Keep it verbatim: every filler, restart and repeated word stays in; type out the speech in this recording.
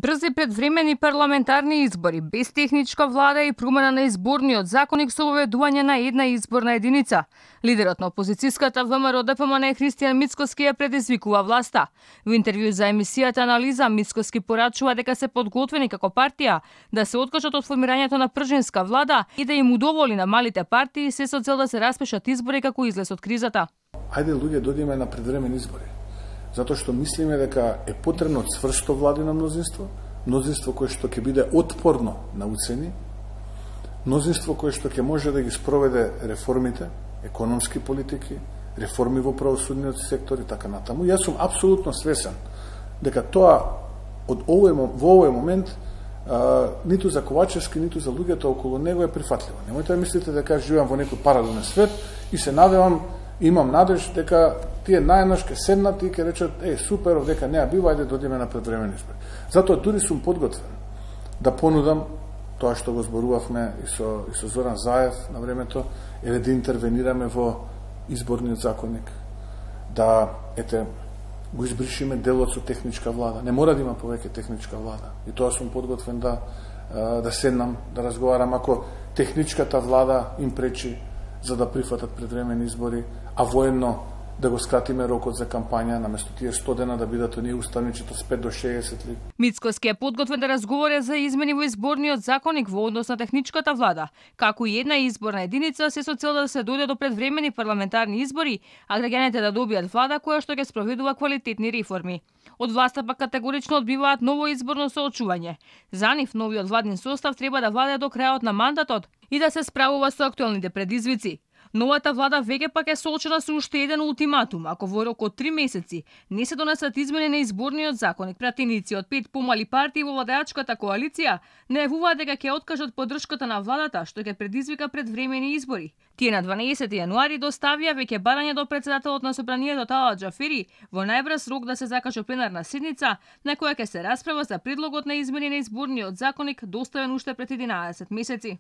Брзи предвремени парламентарни избори, без техничка влада и промена на изборниот законник со воведување на една изборна единица. Лидерот на опозицијската ВМРО Д П М Н Христијан Мицкоски ја предизвикува власта. Во интервју за емисијата Анализа, Мицкоски порачува дека се подготвени како партија да се откажат од формирањето на пржинска влада и да им удоволи на малите партии се со цел да се распишат избори како излез од кризата. Ајде луѓе додиме на предвремени избори. Затоа што мислиме дека е потребно цврсто владино мнозинство, мнозинство кое што ќе биде отпорно на уцени, мнозинство кое што ќе може да ги спроведе реформите, економски политики, реформи во правосудниот сектор и така натаму. Јас сум апсолутно свесен дека тоа од овој во овој момент а, ниту за Ковачевски, ниту за луѓето околу него е прифатливо. Немојте да мислите дека живеам во некој паралелен свет и се надевам, имам надеж дека тие најнаш ке седнат и ке речат, е, супер, дека неа бива, ајде додиме на предвремени избори. Затоа дури сум подготвен да понудам тоа што го зборувавме и со, и со Зоран Заев на времето, е да интервенираме во изборниот законник, да, ете, го избришиме делот со техничка влада. Не мора да има повеќе техничка влада. И тоа сум подготвен да, да седнам, да разговарам, ако техничката влада им пречи за да прифатат предвремени избори, а военно да го скратиме рокот за кампања, наместо тие сто дена да бидат оние уставничето с пет до шеесет ли. Мицкоски е подготвен да разговаря за измени во изборниот законник во однос на техничката влада, како и една изборна единица се со цел да се дојде до предвремени парламентарни избори, а граѓаните да добијат влада која што ќе спроведува квалитетни реформи. Од власта пак категорично одбиваат ново изборно соочување. За нив новиот владин состав треба да владе до крајот на мандатот и да се справува со актуелните предизвици. Новата влада веќе пак е соочена со уште еден ултиматум, ако во рок од три месеци не се донесат измени на изборниот законник. Пратеници од пет помали партии во владеачката коалиција најавуваат дека ќе откажат поддршката на владата, што ќе предизвика предвремени избори. Тие на дванаесети јануари доставија веќе барање до председателот на собранието Талат Џафери во најбрз рок да се закаже пленарна седница на која ќе се расправа за предлогот на измени на изборниот законник доставен уште пред единаесет месеци.